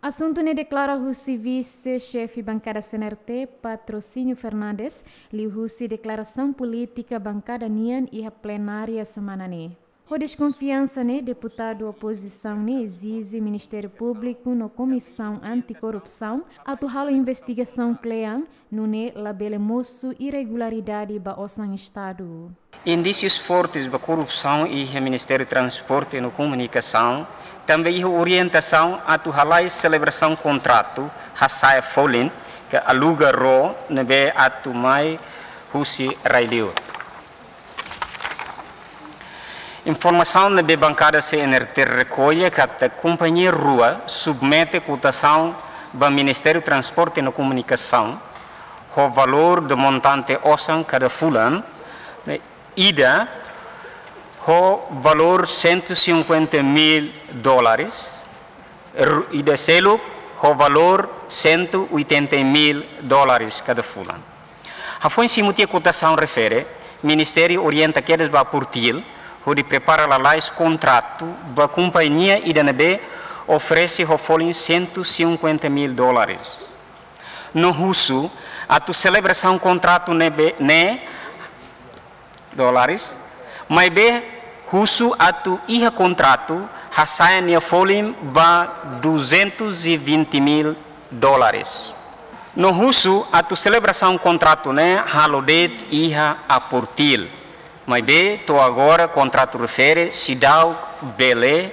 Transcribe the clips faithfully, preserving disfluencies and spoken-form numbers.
Asuntu ne'e deklara husi Vise-Xefe Bankada C N R T, Patrocínio Fernandes, liuhusi deklarasaun polítika bankada nian iha plenária semana ne'e. Ho deskonfiansa ne'e, deputadu opozisaun ne'e ezije Ministériu Públiku no Komisaun Antikorrupsaun atu halo investigasaun kle'an, nune'e labele mosu irregularidade ba osan Estadu. Indísius fortes ba korrupsaun iha Ministériu Transporte no Komunikasaun, tanba iha orientasaun atu halai selebrasaun kontratu hasa'e folin ka aluga ró ne'ebé atu mai husi rai-liur. Informasaun ne'ebé bankada C N R T rekolla katak kompañia rua submete kotasaun ba Ministériu Transporte no Komunikasaun, ho valór de montante osan kada fulan, ne'e ida ho valór cento e cinquenta mil dólares, ru-, ida seluk ho valór cento e oitenta mil dólares kada fulan. Hafoin simu tiha kotasaun refere, Ministériu orienta kedas ba APORTIL hodi prepara lalais kontratu ba kompañia ida ne'ebé oferese ho folin cento e cinquenta mil dólares. No husu atu selebrasaun kontratu ne'ebé ne'e dólares, maibé husu atu iha kontratu hasa'e nia folin ba duzentos e vinte mil dólares. No husu atu selebrasaun kontratu ne'e halo de'it iha APORTIL, maibé to'o agora kontratu refere seidauk bele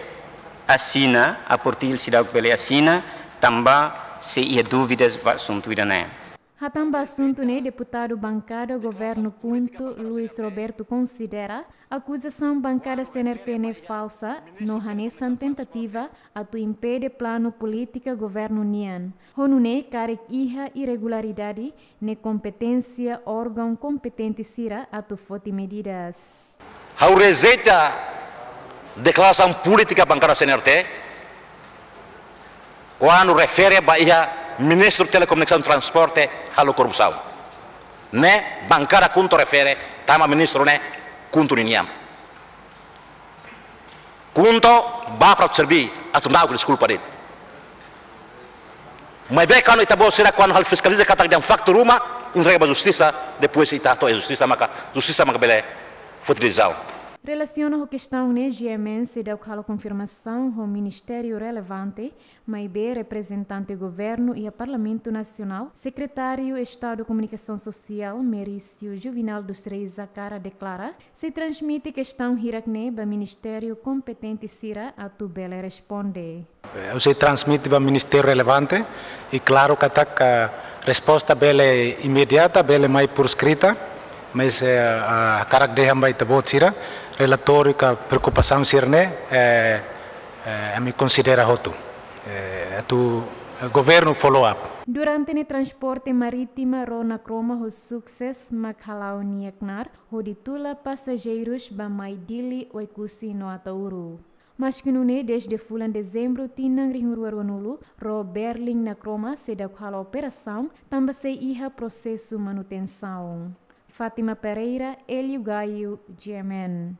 asina, APORTIL seidauk bele asina, tanba sei iha dúvidas ba asuntu ida-ne'e. Hatán ba asuntu ne'e, deputadu bankada governu KHUNTO, Luis Roberto, konsidera akuzasaun bankada C N R T ne'e falsa, no hanesan tentativa atu impede planu polítika governu nian. Ho nune'e karik iha irregularidade, ne'e kompeténsia órgaun kompetente sira atu foti medidas. Ha'u rejeita deklarasaun polítika bankada C N R T, kuandu refere ba iha Ministru Telekomunikasaun Transporte halo korrupsaun. Ne'e bankada KHUNTO refere, tanba ministru ne'e KHUNTO ninian. KHUNTO bá para serví, atu na'ok deskulpa de'it. Maibé kuandu ita-boot sira kuandu halo fiskaliza katak dehan faktu ruma, entrega ba justisa, depois ita hato'o iha justisa maka, justisa maka bele foti desizaun. Relasiona ho kestaun ne'e, G M N seidauk halo konfirmasaun ho ministériu relevante, maibé reprezentante governu iha Parlamentu Nasionál, Sekretáriu Estadu Komunikasaun Sosiál, Merício Juvinal dos Reis Zakara, deklara sei transmite kestaun hirak ne'e ba ministériu kompetente sira atu bele responde. Eh, ha'u sei transmite ba ministériu relevante, i klaru katak resposta bele imediata, bele mai por escrita, mas, eh, ah, hakarak dehan ba ita-boot sira, relatóriu ka preokupasaun sira-ne'e, eh, eh, ami konsidera hotu. Eh, atu, eh, governu follow up. Durante ne'e transporte marítima ró Nakroma ho sukses mak hala'o nia knaar, hodi tula pasajeirus bá-mai Dili, Oekusi no Ataúru. Maski nune'e, dezde fulan Dezembru tinan rihun rua ruanulu, ró Berlin Nakroma seidauk halo operasaun, tanba sei iha prosesu manutensaun. Fátima Pereira, Hélio Gaio, G M N.